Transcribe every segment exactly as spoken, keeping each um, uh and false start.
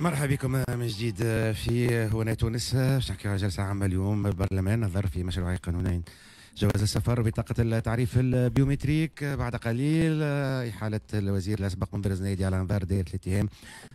مرحبا بكم من جديد في هنا تونس. باش نحكيو على جلسة عامة اليوم البرلمان نظر في مشروع قانونين جواز السفر وبطاقة التعريف ال biométrique. بعد قليل إحالة الوزير الأسبق منذر الزنايدي على أنظار دائرة الاتهام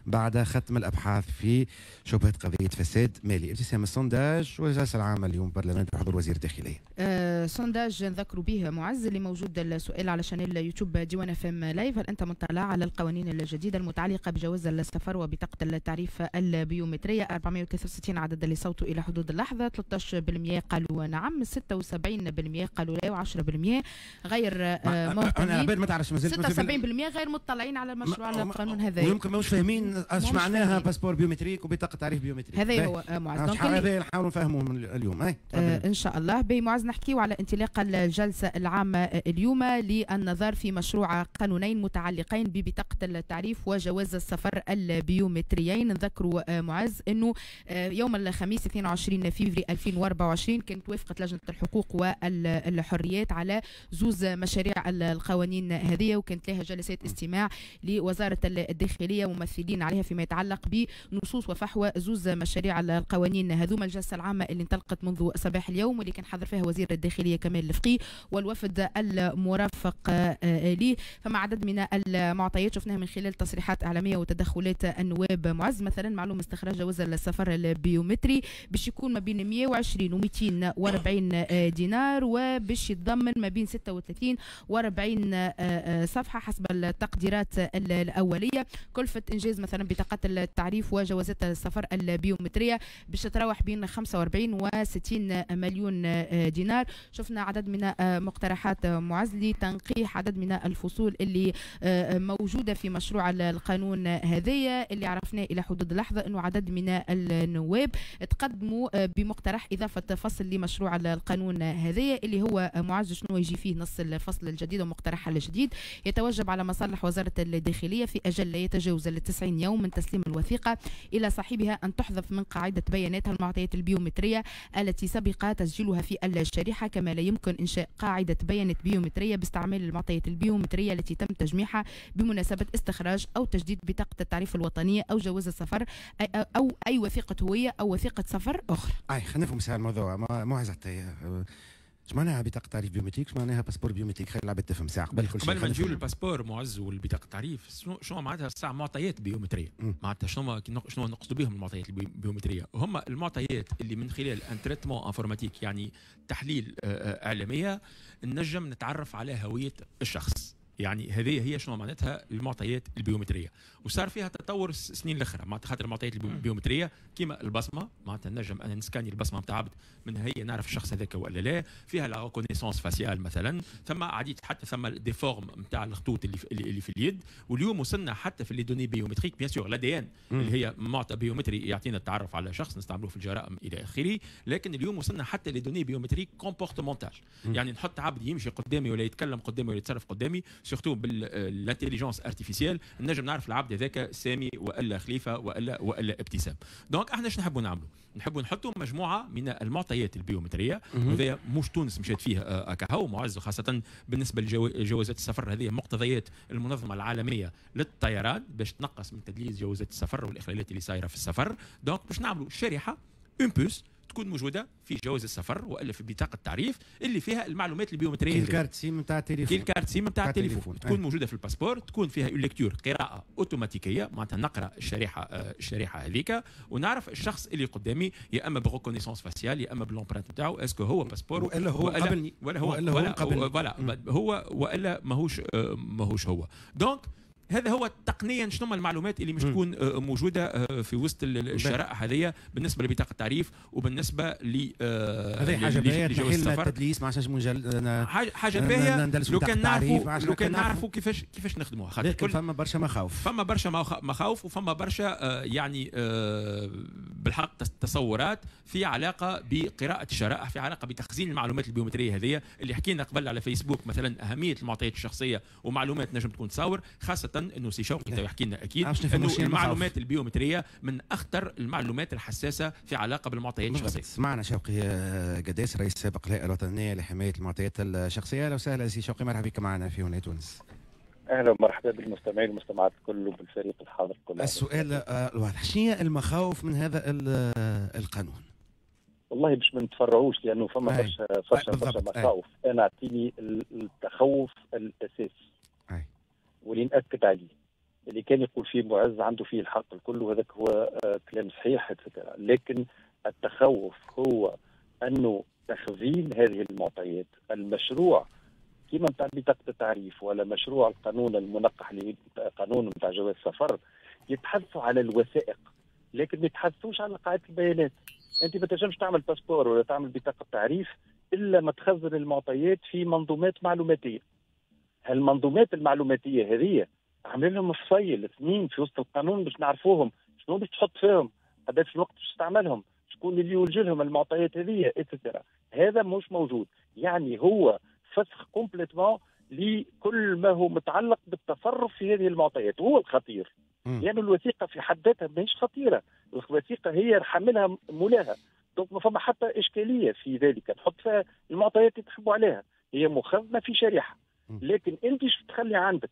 بعد ختم الأبحاث في شبهة قضية فساد مالي. ابتسام، ال sondage والجلسة العامة اليوم برلمان بحضور وزير الداخلية. أه sondage نذكروا به معز اللي موجود السؤال على chaîne يوتيوب ديوان اف ام live: هل أنت مطلع على القوانين الجديدة المتعلقة بجواز السفر وبطاقة التعريف البيومترية؟ أربعمائة وثلاثة وستين عدد اللي صوتوا إلى حدود اللحظة، ثلاثة عشر بالمئة قالوا نعم، ستة وسبعين بالمئة قالوا لا، وعشرة بالمئة غير آه، مهتمين. انا عباد ما تعرفش. مازال ستة وسبعين بالمئة غير مطلعين على المشروع على القانون هذا. ويمكن ماهوش فاهمين اش معناها passeport biométrique وبطاقه تعريف biométrique. هذا هو آه، معز. هذا نحاولوا نفهموا اليوم. آه ان شاء الله. باهي معز، نحكيو على انطلاق الجلسة العامة اليوم للنظر في مشروع قانونين متعلقين ببطاقه التعريف وجواز السفر البيومتريين. نذكروا آه، معز انه يوم الخميس اثنين وعشرين فيفري ألفين وأربعة وعشرين كانت وافقت لجنة الحقوق والحريات على زوز مشاريع القوانين هذه، وكانت لها جلسات استماع لوزارة الداخلية ممثلين عليها فيما يتعلق بنصوص وفحوى زوز مشاريع القوانين هذوما. الجلسة العامة اللي انطلقت منذ صباح اليوم واللي كان حضر فيها وزير الداخلية كمال الفقيه والوفد المرافق آه، ليه. فما عدد من المعطيات شفناها من خلال تصريحات إعلامية وتدخلات النواب معز. مثلا معلوم استخراج جواز السفر البيومتري باش يكون ما بين مئة وعشرين و مئتين وأربعين دينار، وباش يتضمن ما بين ستة وثلاثين و أربعين صفحة حسب التقديرات الأولية. كلفة إنجاز مثلا بطاقات التعريف وجوازات السفر البيومترية باش تتراوح بين خمسة وأربعين و ستين مليون دينار. شفنا عدد من مقترحات معز لتنقيح عدد من الفصول اللي موجودة في مشروع القانون هذايا. اللي عرفناه إلى حدود اللحظة أنه عدد من النواب تقدموا بمقترح إضافة فصل لمشروع القانون هذايا، اللي هو معز شنو يجي فيه نص الفصل الجديد ومقترح الجديد؟ يتوجب على مصالح وزارة الداخلية في أجل لا يتجاوز التسعين يوم من تسليم الوثيقة إلى صاحبها أن تحذف من قاعدة بياناتها المعطيات البيومترية التي سبق تسجيلها في الشريحة، كما لا يمكن إنشاء قاعدة بيانات بيومترية باستعمال المعطيات البيومترية التي تم تجميعها بمناسبة استخراج أو تجديد بطاقة التعريف الوطنية أو جواز السفر أو أي وثيقة هوية أو وثيقة سفر أخرى. أي خلينا نفهم الموضوع معز. اش معناها بطاقة تعريف biométrique؟ اش معناها passeport biométrique؟ خلي العباد تفهم ساعة قبل كل شيء. قبل ما نجيو لل passeport معز والبطاقه التعريف، شنو شنو معناتها الساعة معطيات بيومتريه؟ معناتها شنو شنو نقصدوا بهم المعطيات البيومتريه؟ هما المعطيات اللي من خلال un traitement informatique، يعني تحليل آه، آه، اعلاميه، نجم نتعرف على هوية الشخص. يعني هذه هي شنو معناتها المعطيات البيومتريه. وصار فيها تطور السنين الاخرى، معناتها خاطر المعطيات البيومتريه كيما البصمه، معناتها نجم انا نسكاني البصمة نتاع عبد، من هي نعرف الشخص هذاك ولا لا. فيها la reconnaissance faciale مثلا، ثم عديد، حتى ثم des formes نتاع الخطوط اللي في, اللي في اليد. واليوم وصلنا حتى في les données biométriques، bien sûr l'ADN اللي هي معطى بيومتري يعطينا التعرف على شخص، نستعملوه في الجرائم الى اخره. لكن اليوم وصلنا حتى les données biométriques comportementales، يعني نحط عبد يمشي قدامي ولا يتكلم قدامي ولا يتصرف قدامي، surtout بال intelligence artificielle نجم نعرف العبد هذاك سامي والا خليفة والا والا ابتسام. donc احنا شنو نحبوا نعملوا؟ نحبوا نحطوا مجموعة من المعطيات البيومتريه. وهذا مش تونس مشات فيه آه، كهو معز، خاصة بالنسبة لجوازات السفر، هذه مقتضيات المنظمة العالمية للطيران باش تنقص من تدليس جوازات السفر والاخلالات اللي صايرة في السفر. donc باش نعملوا شريحه، une puce، تكون موجودة في جواز السفر والا في بطاقة التعريف اللي فيها المعلومات البيومتريه. كي ال carte SIM نتاع التليفون. كي ال carte SIM نتاع التليفون، تكون موجودة في ال passeport، تكون فيها une lecture، قراءة اوتوماتيكيه، معناتها نقرا الشريحه آه، الشريحة هذيك ونعرف الشخص اللي قدامي، يا اما ب reconnaissance faciale يا اما ب l'empreinte نتاعو، est-ce que هو passeport والا هو قبلني. ولا هو ولا هو قبلني، voilà، هو والا ماهوش آه، ماهوش هو. donc هذا هو تقنيا شنو المعلومات اللي مش تكون آه، موجودة آه، في وسط الشرائح هذه بالنسبة لبطاقه التعريف وبالنسبة ل آه، هذه حاجة باهيه تنحي التدليس، ما عادش مجال حاجه حاجة باهيه لو كان نعرفوا لو كان نعرفوا كيفاش كيفاش نخدموها. خاطر لكن فما برشا مخاوف. فما برشا مخاوف وفما برشا يعني بالحق تصورات في علاقة بقراءة الشرائح، في علاقة بتخزين المعلومات البيومتريه هذه اللي حكينا قبل على فيسبوك مثلا، اهمية المعطيات الشخصية ومعلومات نجم تكون تصور، خاصة انه سي شوقي يحكي لنا اكيد انه المعلومات البيومتريه من اخطر المعلومات الحساسة في علاقة بالمعطيات الشخصيه. معنا شوقي قداس، رئيس سابق الهيئة الوطنية لحماية المعطيات الشخصيه. اهلا وسهلا سي شوقي، مرحبا بك معنا في هنا تونس. اهلا ومرحبا بالمستمعين والمستمعات الكل وبالفريق الحاضر الكل. السؤال الواضح، شنو هي المخاوف من هذا القانون؟ والله باش ما نتفرعوش لانه فما برشا برشا برشا مخاوف. انا اعطيني التخوف الاساسي واللي ناكد عليه، اللي كان يقول فيه معز عنده فيه الحق الكل، وهذاك هو كلام صحيح، لكن التخوف هو انه تخزين هذه المعطيات، المشروع كيما نتاع بطاقة التعريف ولا مشروع القانون المنقح اللي قانون نتاع جواز السفر، يتحدثوا على الوثائق لكن ما يتحدثوش على قاعدة البيانات. انت ما تنجمش تعمل passeport ولا تعمل بطاقة تعريف الا ما تخزن المعطيات في منظومات معلوماتيه. هالمنظومات المعلوماتيه هذه عاملين لهم فصيل اثنين في وسط القانون باش نعرفوهم شنو باش تحط فيهم، قداش الوقت باش تستعملهم، شكون اللي يوجه لهم المعطيات هذه et cetera. هذا مش موجود، يعني هو فسخ complètement لكل ما هو متعلق بالتصرف في هذه المعطيات، وهو الخطير. لأن يعني الوثيقة في حد ذاتها ماهيش خطيرة، الوثيقة هي حاملها مولاها، donc ما فما حتى إشكالية في ذلك، تحط فيها المعطيات اللي تحبوا عليها، هي مخزنة في شريحة. لكن أنت شو تخلي عندك؟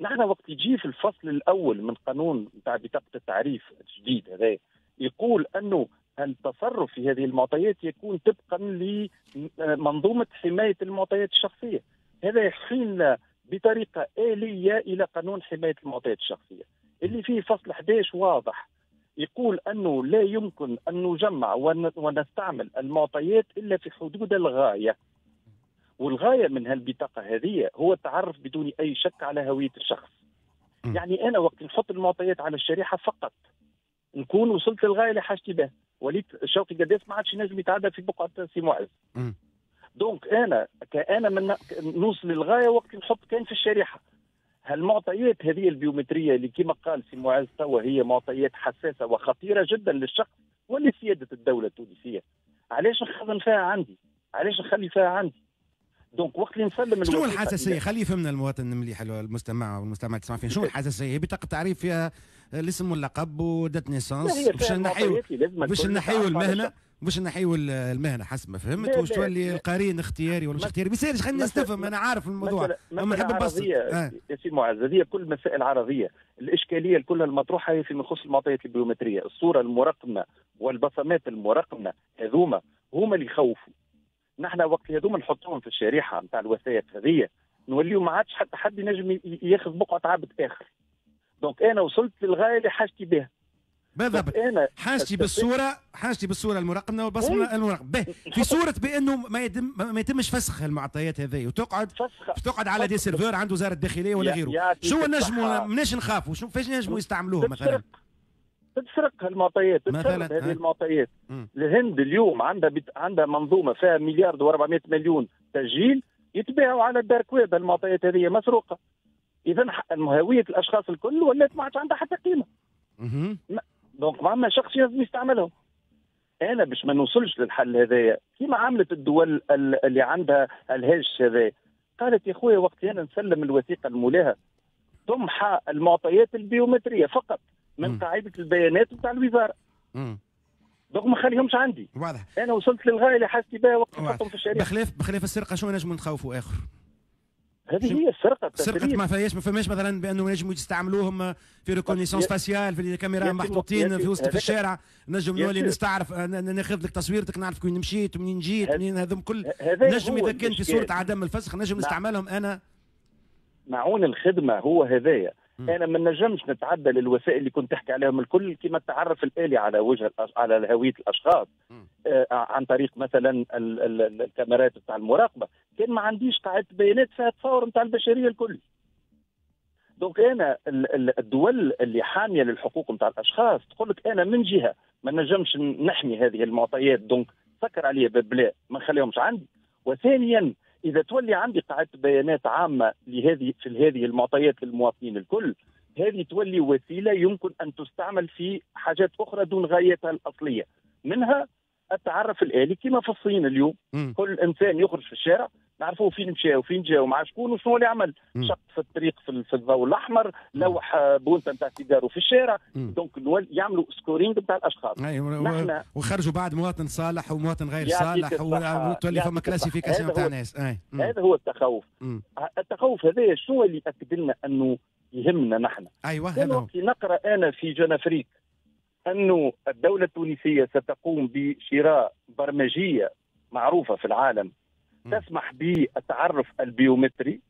نحن وقت يجي في الفصل الأول من قانون نتاع بطاقة التعريف الجديد هذا يقول أنه التصرف في هذه المعطيات يكون طبقا لمنظومة حماية المعطيات الشخصية. هذا يحيلنا بطريقة آلية إلى قانون حماية المعطيات الشخصية اللي فيه فصل أحد عشر واضح يقول أنه لا يمكن أن نجمع ونستعمل المعطيات إلا في حدود الغاية، والغاية من هالبطاقة هذه هو التعرف بدون أي شك على هوية الشخص. م. يعني أنا وقت نحط المعطيات على الشريحة فقط نكون وصلت للغاية اللي حاجتي بها، وليت شوقي قداس ما عادش ينجم يتعدى في بقعة سي معز. donc أنا كأنا من نوصل للغاية وقت نحط كان في الشريحة. هالمعطيات هذه البيومترية اللي كما قال سي معز توا هي معطيات حساسة وخطيرة جدا للشخص ولسيادة الدولة التونسية. علاش نخزن فيها عندي؟ علاش نخلي فيها عندي؟ donc وقت اللي نسلم شنو الحساسية؟ خليه يفهمنا المواطن مليح، المستمع والمستمع تسمع فيه، شنو الحساسية؟ هي بطاقة تعريف فيها الاسم واللقب و date naissance باش نحيو باش نحيو المهنة، باش نحيو المهنة حسب ما فهمت، واش تولي القرين اختياري ولا مش اختياري؟ ما يصيرش، خلينا الناس تفهم، انا عارف الموضوع اما نحب نبسط. يا سي معز هذه كل مسائل عرضية، الاشكالية الكل المطروحة هي فيما يخص المعطيات البيومتريه، الصورة المرقمه والبصمات المرقمه هذوما هما اللي يخوفوا. نحن وقت هذوما نحطوهم في الشريحة نتاع الوثائق هذه نوليو ما عادش حتى حد ينجم ياخذ بقعة عبد اخر. donc انا وصلت للغاية اللي حاجتي بها. بالضبط، انا حاجتي بالصورة، حاجتي بالصورة المرقمه والبصمه المرقمه في صوره بانه ما يتم ما يتمش فسخ المعطيات هذه وتقعد تقعد على des serveurs عند وزارة الداخلية ولا غيره. شو نجموا مناش نخافوا؟ شو فاش نجموا يستعملوه مثلا؟ تتسرق المعطيات، تتسرق هذه المعطيات. مم. الهند اليوم عندها بت... عندها منظومة فيها مليار وأربعمائة مليون تسجيل يتباعوا على ال dark web، المعطيات هذه مسروقه. اذا هوية الاشخاص الكل ولات ما عادش عندها حتى قيمة. مم. donc ما عندنا شخص لازم يستعملهم. انا باش ما نوصلش للحل هذايا كيما عملت الدول اللي عندها الهاجس هذايا، قالت يا خويا وقت انا نسلم الوثيقة المولاها تمحى المعطيات البيومتريه فقط من قاعدة البيانات نتاع الوزارة. امم donc ما خليهمش عندي. واضح. انا وصلت للغاية اللي حاجتي بها وقت نحطهم في الشريحة. بخلاف بخلاف السرقة شنو نجم نخوفوا اخر؟ هذه هي السرقة. السرقة ما فيهاش ما فماش مثلا بانه نجموا يستعملوهم في reconnaissance faciale في الكاميرا محطوطين في وسط في الشارع، نجم نولي نستعرف ناخذ لك تصويرتك نعرف وين مشيت ومنين جيت منين هذم كل نجم اذا كان في صوره عدم الفسخ نجم نستعملهم انا. معون الخدمة هو هذايا. انا ما نجمش نتعدى للوسائل اللي كنت تحكي عليهم الكل كما التعرف الالي على وجه على هوية الاشخاص آه عن طريق مثلا ال ال الكاميرات بتاع المراقبة، كان ما عنديش قاعدة بيانات فيها تصور نتاع البشرية الكل. donc انا الدول اللي حامية للحقوق نتاع الاشخاص تقول لك انا من جهة ما نجمش نحمي هذه المعطيات donc سكر عليا باب بلاء ما نخليهمش عندي، وثانيا إذا تولي عندي قاعدة بيانات عامة لهذه في هذه المعطيات للمواطنين الكل، هذه تولي وسيلة يمكن أن تستعمل في حاجات أخرى دون غايتها الأصلية، منها التعرف الآلي كما في الصين اليوم. م. كل إنسان يخرج في الشارع نعرفوه فين مشى وفين جا ومع شكون وشنو اللي عمل، شق في الطريق في, في الضوء الاحمر، لوح بونتا نتاع سيجارو في الشارع. donc يعملوا scoring نتاع الاشخاص. نحن وخرجوا بعد مواطن صالح ومواطن غير صالح، وتولي فما classification تاع ناس. هذا هو التخوف. مم. التخوف هذا شنو اللي اكد لنا انه يهمنا نحن؟ ايوه هذا هو. نقرا انا في Jeune Afrique انه الدولة التونسية ستقوم بشراء برمجيه معروفة في العالم م. تسمح بالتعرف البيومتري،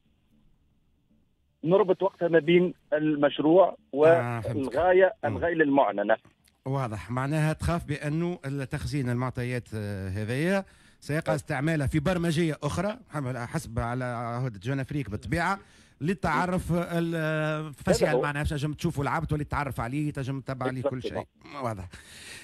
نربط وقتها ما بين المشروع والغاية آه الغاية المعلنة. واضح، معناها تخاف بانه التخزين المعطيات هذيا سيقع استعمالها في برمجيه اخرى حسب على عهده Jeune Afrique بالطبيعة للتعرف ال facial، معناها تنجم تشوفوا العبد ولا تتعرف عليه، تنجم تتبع عليه كل شيء. واضح.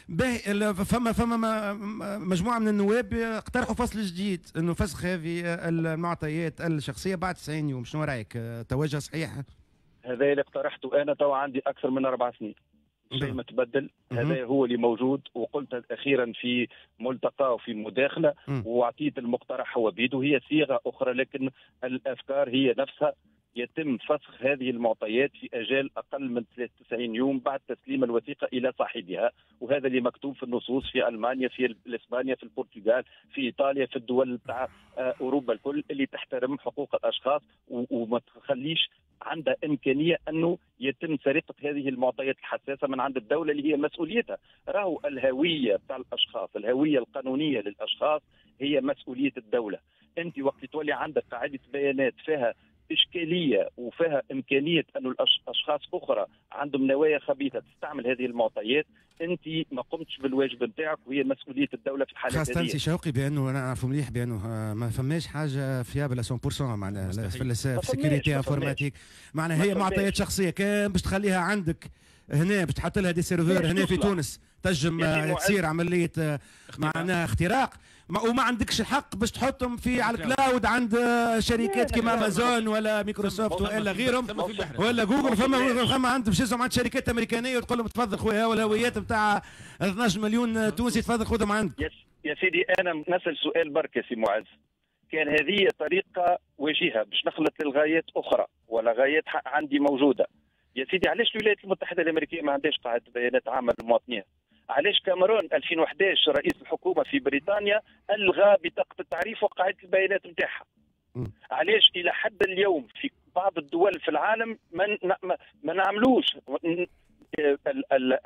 باهي، فما فما مجموعة من النواب اقترحوا فصل جديد انه فسخ هذه المعطيات الشخصية بعد تسعين يوم، شنو رايك؟ توجه صحيح؟ هذا اللي اقترحته انا تو عندي اكثر من اربع سنين، شيء ما تبدل، هذا هو اللي موجود، وقلت اخيرا في ملتقى وفي مداخله واعطيت المقترح هو بيده، هي صيغة اخرى لكن الافكار هي نفسها. يتم فسخ هذه المعطيات في اجال اقل من ثلاثة وتسعين يوم بعد تسليم الوثيقة الى صاحبها، وهذا اللي مكتوب في النصوص في المانيا، في اسبانيا، في البرتغال، في ايطاليا، في الدول تاع اوروبا الكل اللي تحترم حقوق الاشخاص وما تخليش عندها امكانية انه يتم سرقه هذه المعطيات الحساسة من عند الدولة اللي هي مسؤوليتها. راهو الهوية تاع الاشخاص، الهوية القانونية للاشخاص هي مسؤولية الدولة. انت وقت تولي عندك قاعدة بيانات فيها إشكالية وفيها إمكانية أن الأشخاص أخرى عندهم نوايا خبيثة تستعمل هذه المعطيات، أنت ما قمتش بالواجب نتاعك وهي مسؤولية الدولة في الحالات هذه. خاصة سي شوقي بأنه أنا أعرف مليح بأنه ما فماش حاجة fiable مية بالمية معناها في ال sécurité informatique، معناها هي معطيات شخصية كان باش تخليها عندك هنا باش تحط لها des serveurs هنا في تونس تنجم تصير عملية معناها اختراق، وما عندكش الحق باش تحطهم في على ال cloud عند شركات كيما امازون ولا مايكروسوفت ولا غيرهم ولا جوجل. فما فما عند باش عند شركات امريكانيه وتقول لهم تفضل خويا والهويات نتاع اثناش مليون تونسي تفضل خذهم عندك. يا سيدي انا نسال سؤال برك يا سي معز، كان هذه طريقه وجيهة باش نخلط للغايات اخرى ولا غايات عندي موجودة، يا سيدي علاش الولايات المتحدة الامريكية ما عندهاش قاعدة بيانات عامة للمواطنين؟ علاش كاميرون ألفين وأحد عشر رئيس الحكومة في بريطانيا الغى بطاقة التعريف وقاعدة البيانات نتاعها؟ علاش الى حد اليوم في بعض الدول في العالم ما ما نعملوش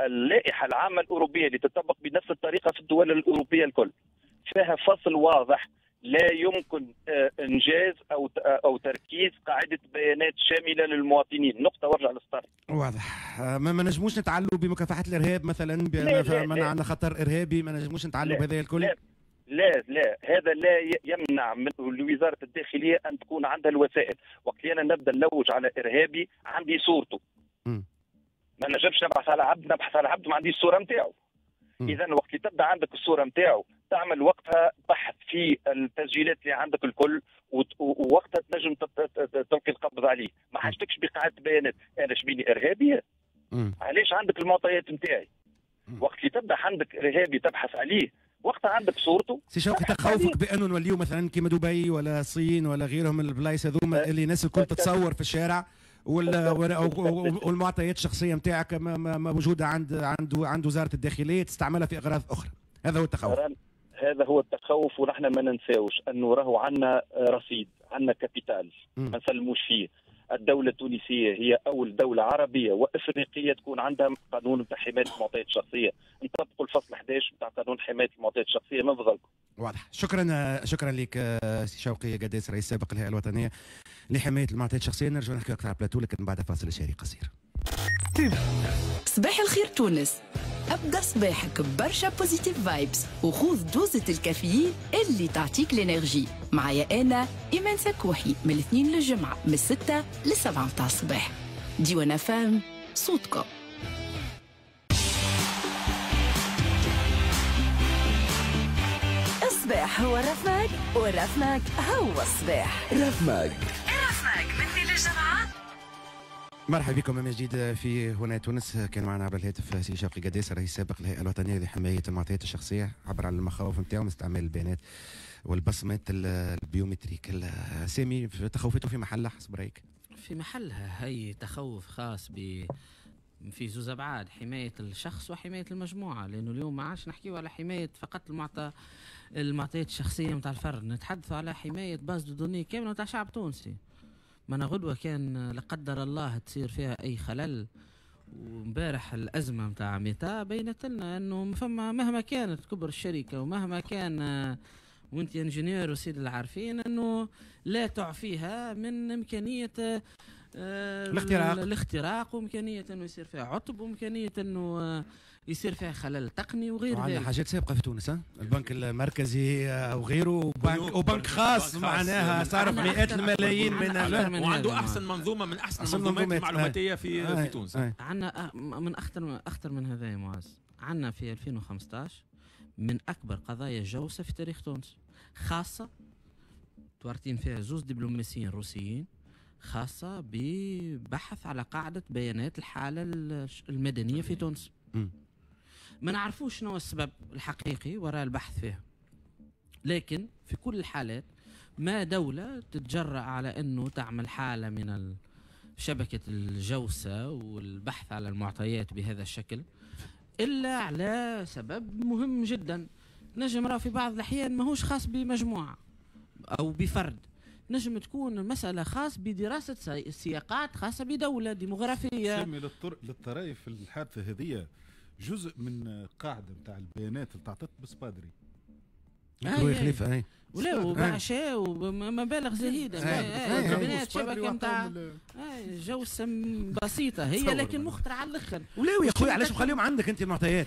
اللائحة العامة الاوروبية اللي تطبق بنفس الطريقة في الدول الاوروبية الكل فيها فصل واضح لا يمكن انجاز او او تركيز قاعدة بيانات شاملة للمواطنين، نقطة وارجع للسطر. واضح، ما, ما نجموش نتعلوا بمكافحة الارهاب مثلا، بان عندنا خطر ارهابي ما نجموش نتعلوا بهذا الكل؟ لا لا لا، هذا لا يمنع من وزارة الداخلية ان تكون عندها الوسائل، وقت انا نبدا نلوج على ارهابي عندي صورته. م. ما نجمش نبحث على عبد، نبحث على عبد ما عنديش الصورة نتاعو. اذا وقت اللي تبدا عندك الصورة نتاعو تعمل وقتها بحث في التسجيلات اللي عندك الكل، ووقتها تنجم تلقي القبض عليه، ما حاجتكش بقاعدة بيانات، انا شبيني ارهابي؟ علاش عندك المعطيات نتاعي؟ وقت اللي تبدا عندك ارهابي تبحث عليه وقتها عندك صورته. سي شوقي تخوفك بانه نوليو مثلا كيما دبي ولا الصين ولا غيرهم من البلايص هذوما اللي الناس الكل تتصور في الشارع والمعطيات الشخصية نتاعك موجودة عند عند عند وزارة الداخلية تستعملها في اغراض اخرى، هذا هو التخوف. هذا هو التخوف، ونحن ما ننساوش انه راهو عندنا رصيد، عندنا capital ما نسلموش فيه. الدولة التونسية هي أول دولة عربية وإفريقية تكون عندها قانون نتاع حماية المعطيات الشخصية، نطبقوا الفصل أحد عشر نتاع قانون حماية المعطيات الشخصية من فضلكم. واضح، شكرا شكرا لك سي شوقي قداس رئيس سابق الهيئة الوطنية لحماية المعطيات الشخصية. نرجع نحكي أكثر على بلاتو لكن بعد فاصل شهري قصير. صباح الخير تونس، ابدا صباحك برشا positive vibes وخوذ دوزة الكافيين اللي تعطيك l'énergie. معايا انا ايمان سكوحي من الاثنين للجمعة من الستة للسبعة متاع الصباح. ديوان فام صوتكم. الصباح هو رفماك والرفماك هو الصباح. رفماك رفماك من الاثنين للجمعة. مرحبا بكم من جديد في هنا تونس. كان معنا عبر الهاتف سي شوقي قداس، رئيس سابق الهيئة الوطنية لحماية المعطيات الشخصية، عبر على المخاوف نتاعو من استعمال البيانات والبصمات ال biométriques. سامي، تخوفته في محلها حسب رايك؟ في محلها. هي تخوف خاص ب في زوز ابعاد، حماية الشخص وحماية المجموعة، لانه اليوم ما عادش نحكيو على حماية فقط المعطى المعطيات الشخصية نتاع الفرد، نتحدثوا على حماية base de données كاملة نتاع شعب تونسي. ما غدوه كان لا قدر الله تصير فيها اي خلل، وامبارح الازمة نتاع ميتا بينت لنا انه فما مهما كانت كبر الشركة ومهما كان وانت ingénieur وسيد العارفين، انه لا تعفيها من امكانية الاختراق الاختراق وامكانية انه يصير فيها عطب، وامكانية انه يصير فيها خلل تقني وغير ذلك. عندنا حاجات سابقه في تونس، ها البنك المركزي وغيره، وبنك وبنك خاص معناها صرف مئات الملايين من وعنده احسن منظومة من احسن المنظومات المعلوماتيه في آه. في تونس. عندنا من اخطر اخطر من هذا يا معز، عندنا في ألفين وخمسطاش من اكبر قضايا الجوسه في تاريخ تونس، خاصة تورتين فيها زوز دبلوماسيين روسيين، خاصة ببحث على قاعدة بيانات الحالة المدنية في تونس. ما نعرفوش شنو السبب الحقيقي وراء البحث فيها، لكن في كل الحالات ما دولة تتجرأ على أنه تعمل حالة من شبكة الجوسة والبحث على المعطيات بهذا الشكل إلا على سبب مهم جدا. نجم راه في بعض الأحيان ماهوش خاص بمجموعة أو بفرد، نجم تكون المسألة خاص بدراسة سياقات خاصة بدولة ديموغرافية. سامي، للطرائف الحادثة هذه جزء من قاعدة نتاع البيانات اللي تعطت بسبادري. آه خليفة اي ولا وبعشاء ومبالغ زهيدة، بيانات شبكة نتاع جوسة بسيطة هي، لكن مخطرة على الاخر. ولا يا خويا علاش مخليهم عندك انت المعطيات؟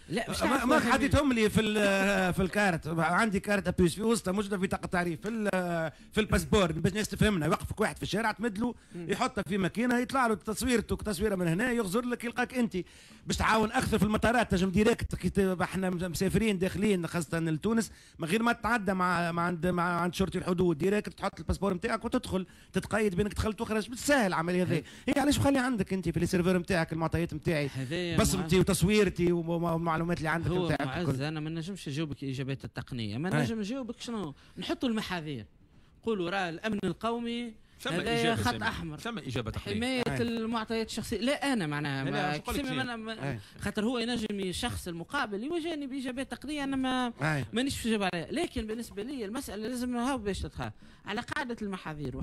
لا مش ما حديتهم لي في في الكارت، عندي carte à puce في وسطها موجودة في بطاقة تعريف في في ال passeport، باش الناس تفهمنا. يوقفك واحد في الشارع تمد له يحطها في ماكينة يطلع له تصويرته تصويره من هنا يغزر لك يلقاك انت، باش تعاون اكثر في المطارات. تنجم direct احنا مسافرين داخلين خاصة لتونس من غير ما تتعدى مع مع عند مع عند شرطي الحدود، direct تحط ال passeport نتاعك وتدخل تتقيد بانك دخلت وخرجت. بالسهل العملية هذه. هي علاش مخلي عندك انت في ال serveur نتاعك المعطيات نتاعي، بصمتي وتصويرتي والمعلومات اللي عندك نتاعك؟ هو معز انا ما نجمش نجاوبك الاجابات التقنية، ما نجم نجاوبك شنو نحطوا المحاذير، نقولوا راه الامن القومي هذا خط احمر، ثم اجابه تقنية، حماية المعطيات الشخصية. لا انا معناها ما خاطر هو ينجم الشخص المقابل يواجهني باجابات تقنية انا ما مانيش نجاوب عليها، لكن بالنسبة لي المسالة لازم هاو باش تدخل على قاعدة المحاذير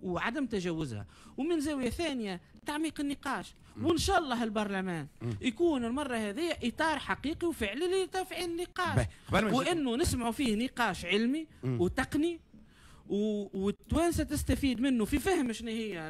وعدم تجاوزها، ومن زاوية ثانية تعميق النقاش، وان شاء الله البرلمان يكون المرة هذه اطار حقيقي وفعلي لتفعيل النقاش، وانه نسمعوا فيه نقاش علمي وتقني والتوانسه تستفيد منه في فهم شنو هي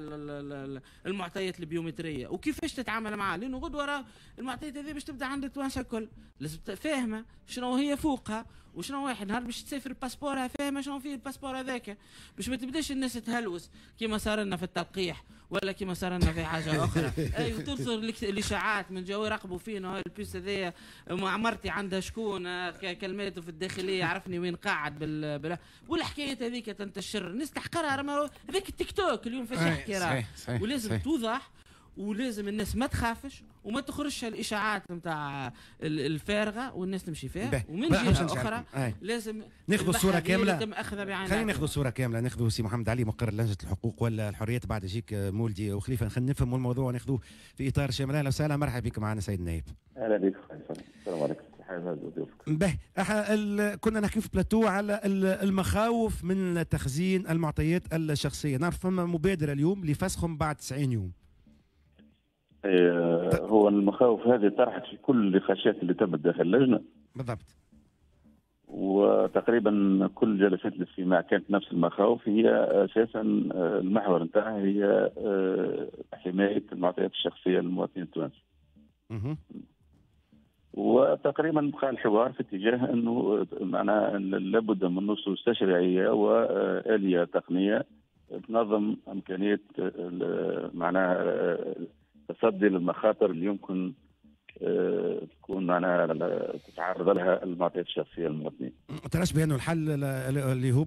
المعطيات البيومتريه وكيفاش تتعامل معها، لانه غدوه راه المعطيات هذه باش تبدا عند التوانسة الكل، لازم فاهمه شنو هي فوقها وشنو واحد نهار باش تسافر باسبورها فاهمه شنو فيه ال passeport هذاك، باش ما تبداش الناس تهلوس كيما صار لنا في التلقيح ولا كيما صار لنا في حاجة اخرى. اي وتنصر الاشاعات من جاو يراقبوا فينا، ال puce هذايا مرتي عندها شكون كلماته في الداخلية عرفني وين قاعد بال, بال... والحكايات هذيك تنتشر الناس تحقرها. هذاك التيك توك اليوم فاش يحكي راه، ولازم توضح ولازم الناس ما تخافش وما تخرجش الاشاعات نتاع الفارغة والناس تمشي فيها. ومن جهة اخرى لازم ناخذ الصورة كاملة، خلينا ناخذ الصورة كاملة. ناخذ سي محمد علي مقر لجنة الحقوق والحريات، بعد يجيك مولدي وخليفة، خلينا نفهموا الموضوع وناخذوه في اطار شامل. اهلا وسهلا، مرحبا بك معنا سيد النائب. اهلا بك، السلام عليكم. به كنا نحكي في بلاتو على المخاوف من تخزين المعطيات الشخصية، نعرف فما مبادرة اليوم لفسخهم بعد تسعين يوم. هو المخاوف هذه طرحت في كل النقاشات اللي تمت داخل اللجنة بالضبط، وتقريبا كل جلسات الاستماع كانت نفس المخاوف. هي اساسا المحور نتاعها هي حماية المعطيات الشخصية للمواطنين التوانسة. وتقريبا بقى الحوار في اتجاه انه معناها لابد من نصوص تشريعية واليه تقنية تنظم امكانية معناها التصدي للمخاطر اللي يمكن تكون معناها تتعرض لها المعطيات الشخصية للمواطنين. تراش بانه الحل اللي هو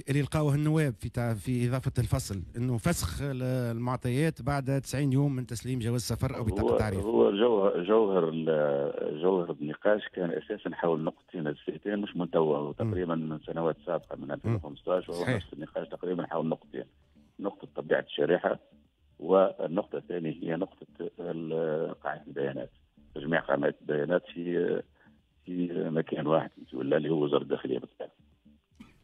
اللي لقاوه النواب في في اضافه الفصل انه فسخ المعطيات بعد تسعين يوم من تسليم جواز سفر او بطاقة تعريف. هو جوهر جوهر جوهر النقاش كان اساسا حول نقطتين اساسيتين مش من توا، تقريبا من سنوات سابقه من ألفين وخمسطاش، وهو نفس النقاش تقريبا حول نقطتين، نقطة طبيعة الشريحة والنقطة الثانية هي نقطة قاعدة البيانات، تجميع قائمة البيانات في في مكان واحد ولا اللي هو وزارة الداخلية بالطبع.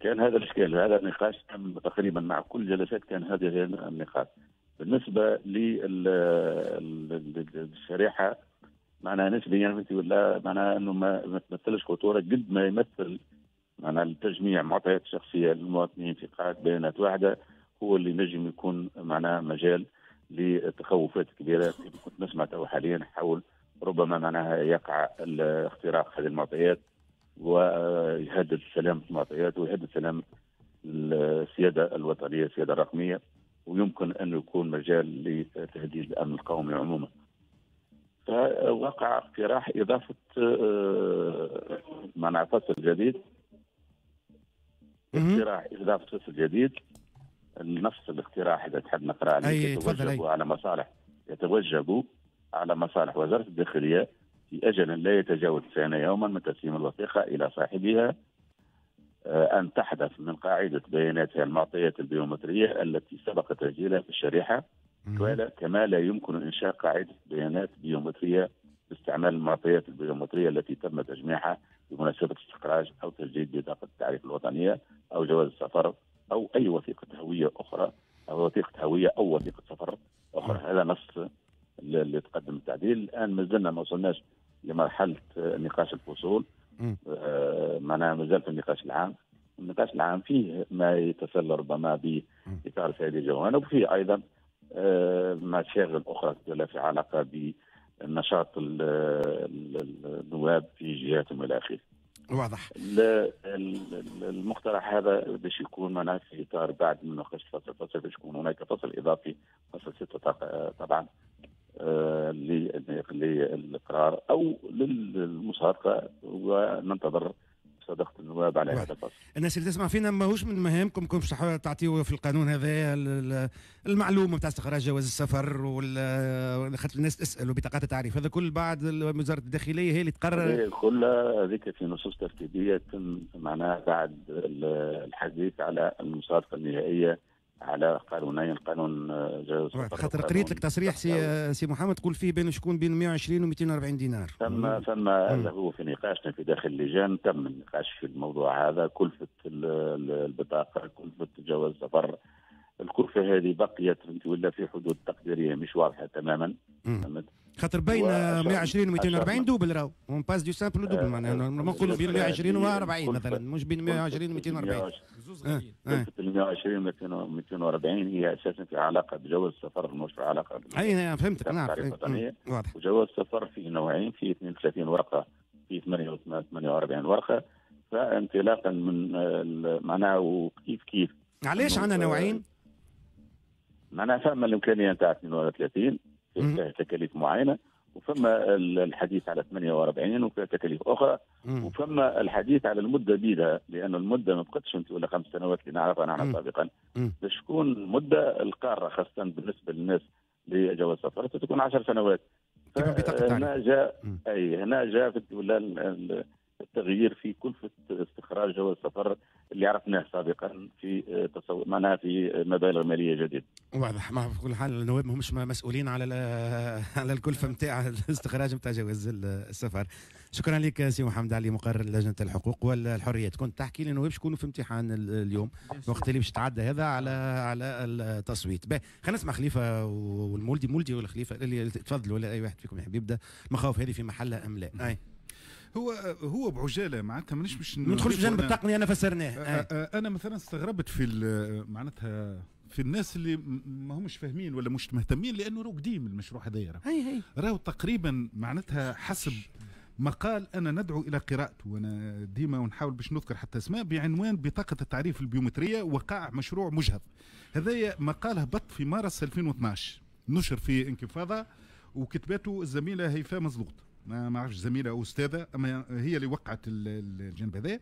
كان هذا الاشكال، هذا النقاش تم تقريبا مع كل جلسات كان هذا النقاش. بالنسبة للشريحه معناها نسبيا ولا معناها انه ما تمثلش خطورة قد ما يمثل معناها التجميع معطيات الشخصية للمواطنين في قاعدة بيانات واحدة هو اللي نجم يكون معناها مجال لتخوفات كبيرة كنت نسمع تو حاليا حول ربما معناها يقع اختراق هذه المعطيات ويهدد سلامة المعطيات ويهدد سلامة السيادة الوطنية، السيادة الرقمية، ويمكن أن يكون مجال لتهديد الأمن القومي عموما. فوقع اقتراح إضافة معناها فصل جديد، اقتراح إضافة فصل جديد، نفس الاقتراح إذا تحب نقرأ عليه، يتوجب على مصالح يتوجب على مصالح وزارة الداخلية في أجل لا يتجاوز تسعين يوما من تسليم الوثيقة إلى صاحبها أن تحدث من قاعدة بياناتها المعطيات البيومترية التي سبق تسجيلها في الشريحة، كما لا يمكن إنشاء قاعدة بيانات بيومترية باستعمال المعطيات البيومترية التي تم تجميعها بمناسبة استخراج أو تسجيل بطاقة التعريف الوطنية أو جواز السفر أو أي وثيقة هوية أخرى أو وثيقة هوية أو وثيقة سفر أخرى. هذا نص اللي تقدم التعديل. الآن ما زلنا ما وصلناش لمرحلة نقاش الفصول، آه معناها مازال في النقاش العام. النقاش العام فيه ما يتصل ربما بإثارة هذه الجوانب، وفيه أيضا آه مشاغل أخرى في علاقة بنشاط النواب في جهاتهم إلى آخره. واضح. المقترح هذا باش يكون معناها في إطار بعد مناقشة فصل فصل باش يكون هناك فصل إضافي، فصل ستة طبعا للإقرار أو للمصادقة، وننتظر صداقة النواب على هذا الفصل. الناس اللي تسمع فينا ماهوش من مهامكم كم تعطيوا في القانون هذا المعلومة نتاع استخراج جواز السفر وال خاطر الناس تسال وبطاقات التعريف، هذا كل بعد وزارة الداخلية هي اللي تقرر. كل هذيك في نصوص ترتيبية تم معناها بعد الحديث على المصادقة النهائية على قانونين، قانون جواز السفر. خاطر قريت لك تصريح سي سي محمد تقول فيه بين شكون بين مئة وعشرين و مئتين وأربعين دينار. ثم ثم هذا هو في نقاشنا في داخل اللجان تم النقاش في الموضوع هذا، كلفة البطاقة، كلفة جواز السفر، الكلفة هذه بقيت ولا في حدود تقديرية مش واضحة تماما. خاطر بين مئة وعشرين و مئتين وأربعين double راهو، on passe du simple au double، معناها نقولوا بين مئة وعشرين و أربعين مثلا، مش بين مئة وعشرين و مئتين وأربعين. كلفة مئة وعشرين و مئتين وأربعين هي اساسا في علاقة بجواز السفر، مش في علاقة. اي فهمتك، نعم واضح. وجواز السفر فيه نوعين، فيه اثنين وثلاثين ورقة، فيه ثمانية وأربعين ورقة، فانطلاقا من معناها وكيف كيف. علاش عندنا نوعين؟ معناها فما الامكانية نتاع اثنين وثلاثين فيها تكاليف معينة، وفما الحديث على ثمانية وأربعين وفيها تكاليف اخرى، وفما الحديث على المدة بيدها، لان المدة ما بقتش انت ولا خمس سنوات اللي نعرفها نحن سابقا، باش تكون مده القارة خاصة بالنسبة للناس لجواز السفر تكون عشر سنوات. هنا جاء اي هنا جاء ولا التغيير في كلفه استخراج جواز السفر اللي عرفناه سابقا في تصور معناها في مبالغ ماليه جديدة. واضح. ما في كل حال النواب ماهمش مسؤولين على على الكلفة نتاع الاستخراج نتاع جواز السفر. شكرا لك سي محمد علي مقرر لجنة الحقوق والحريات. كنت تحكي لي النواب شكونوا في امتحان اليوم وقت اللي باش تعدى هذا على على التصويت. باهي خلينا نسمع خليفة والمولدي، مولدي ولا خليفة اللي تفضلوا ولا اي واحد فيكم يحب يبدا. المخاوف هذه في محلها ام لا؟ اي هو هو بعجاله معناتها مانيش باش ندخل في جانب التقنية انا فسرناه. انا مثلا استغربت في معناتها في الناس اللي ما همش فاهمين ولا مش مهتمين، لانه راهو قديم المشروع هذايا، راهو تقريبا معناتها حسب مقال انا ندعو الى قراءته، وانا ديما ونحاول باش نذكر حتى اسماء، بعنوان بطاقة التعريف البيومتريه وقع مشروع مجهض. هذايا مقال هبط في مارس ألفين واثناش، نشر في انكفاضه وكتبته الزميلة هيفاء مزلوط. ما عرفش زميله او استاذه، اما هي اللي وقعت الجانب هذا،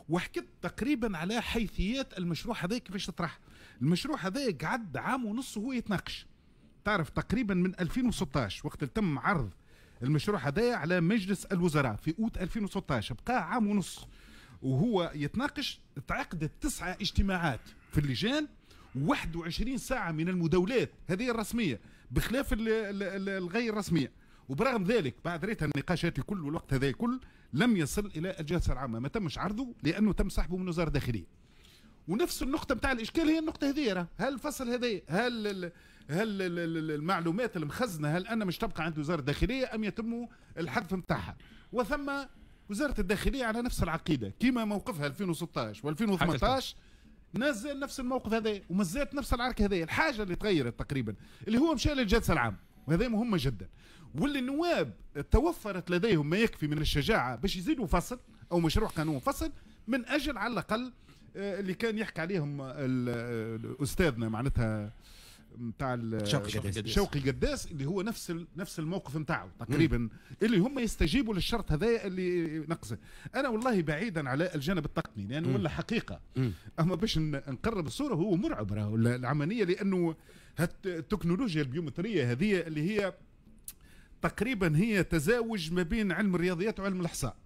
وحكت تقريبا على حيثيات المشروع هذا كيفاش تطرح. المشروع هذا قعد عام ونص وهو يتناقش، تعرف تقريبا من ألفين وستطاش وقت تم عرض المشروع هذا على مجلس الوزراء في اوت ألفين وستطاش، بقى عام ونص وهو يتناقش. تعقدت تسعة اجتماعات في اللجان، واحد وعشرين ساعة من المداولات هذه الرسمية بخلاف الغير رسمية. وبرغم ذلك بعد ريتها النقاشات الكل والوقت هذا الكل لم يصل الى الجلسة العامة، ما تمش عرضه لانه تم سحبه من وزارة الداخلية. ونفس النقطة نتاع الاشكال هي النقطة هذه، هل الفصل هذا هل ال هل المعلومات المخزنه هل انا مش تبقى عند وزارة الداخلية ام يتم الحذف نتاعها؟ وثم وزارة الداخلية على نفس العقيدة كما موقفها ألفين وستطاش وألفين وثمنطاش نزل نفس الموقف هذا وما زالت نفس العركه هذه. الحاجة اللي تغيرت تقريبا اللي هو مشى للجلسه العامة، وهذا مهمة جدا، واللي النواب توفرت لديهم ما يكفي من الشجاعة باش يزيدوا فصل او مشروع قانون فصل من اجل على الاقل اللي كان يحكي عليهم استاذنا معناتها نتاع شوقي قداس اللي هو نفس نفس الموقف نتاعو تقريبا، اللي هم يستجيبوا للشرط هذا اللي نقصه. انا والله بعيدا على الجانب التقني لانه ولا حقيقة، اما باش نقرب الصورة هو مرعب راهو العملية، لانه التكنولوجيا البيومتريه هذه اللي هي تقريبا هي تزاوج ما بين علم الرياضيات وعلم الاحصاء.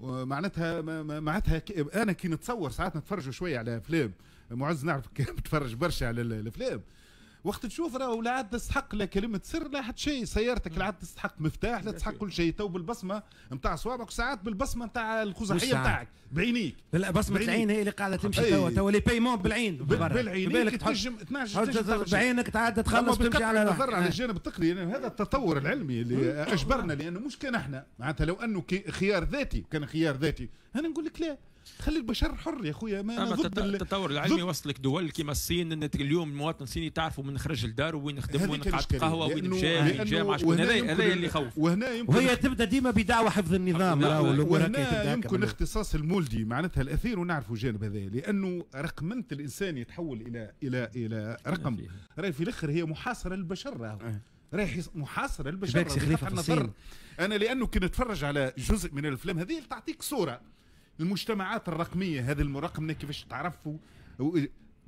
معناتها معناتها انا كي نتصور ساعات نتفرجوا شوية على افلام، معز نعرف بتفرج برشا على الافلام، وقت تشوف راهو لا عاد تستحق لا كلمة سر لا حتى شيء، سيارتك لا عاد تستحق مفتاح لا تستحق كل شيء، تو بالبصمه نتاع صوابعك وساعات بالبصمه نتاع الخزعيه نتاعك بعينيك. لا بصمة العين هي اللي قاعدة تمشي توا، توا les paiements بالعين بالعين تنجم تنجم بعينك تعدى تخلص تمشي على النظر على الجانب التقني. يعني هذا التطور العلمي اللي اجبرنا، لانه مش كان احنا معناتها لو انه خيار ذاتي كان خيار ذاتي انا نقول لك لا، خلي البشر حر يا خويا. ما ضد التطور العلمي وصلك دول كيما الصين، ان اليوم المواطن الصيني تعرفوا من خرج الدار وين خدم وين قعد قهوة وين مشى وين جا شكون، هذا هذا اللي يخوف. وهنا يمكن وهي تبدا ديما بدعوى حفظ النظام، وهنا يمكن اختصاص المولدي معناتها الاثير، ونعرفوا الجانب هذا لانه رقمنه الانسان يتحول الى الى الى رقم، راهي في الاخر هي محاصرة للبشر، راهو راهي محاصرة للبشر. انا لانه كي نتفرج على جزء من الافلام هذه تعطيك صوره المجتمعات الرقمية هذه المرقمه كيفاش تعرفوا،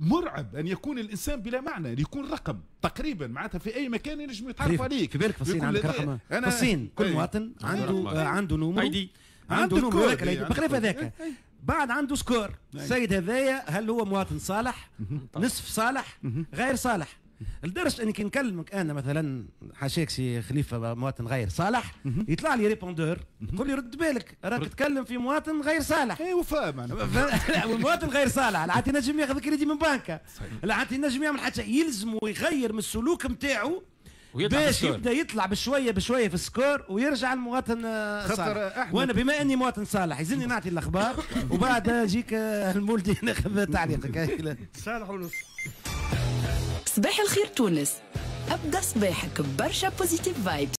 مرعب ان يكون الانسان بلا معنى، يكون رقم تقريبا معناتها في اي مكان ينجم يتعرف عليك. في بالك في الصين عندك رقم، في الصين كل مواطن عنده عنده numéro، عنده numéro بخلاف هذاك بعد عنده score. السيد هذايا هل هو مواطن صالح، نصف صالح، غير صالح؟ لدرجة اني كي نكلمك انا مثلا حاشاك سي خليفة مواطن غير صالح، يطلع لي répondeur يقول لي رد بالك راك تتكلم في مواطن غير صالح. اي وفاء معناها المواطن غير صالح لا عاد ينجم ياخذ كريدي من بنكه، لا عاد ينجم يعمل حتى، يلزم ويغير من السلوك نتاعو باش يبدا يطلع بشوية بشوية في ال score ويرجع المواطن صالح. وانا بما اني مواطن صالح يزني نعطي الاخبار وبعد يجيك المولدي ناخذ تعليقك. صالح ونص. صباح الخير تونس، أبدأ صباحك برشا positive vibes.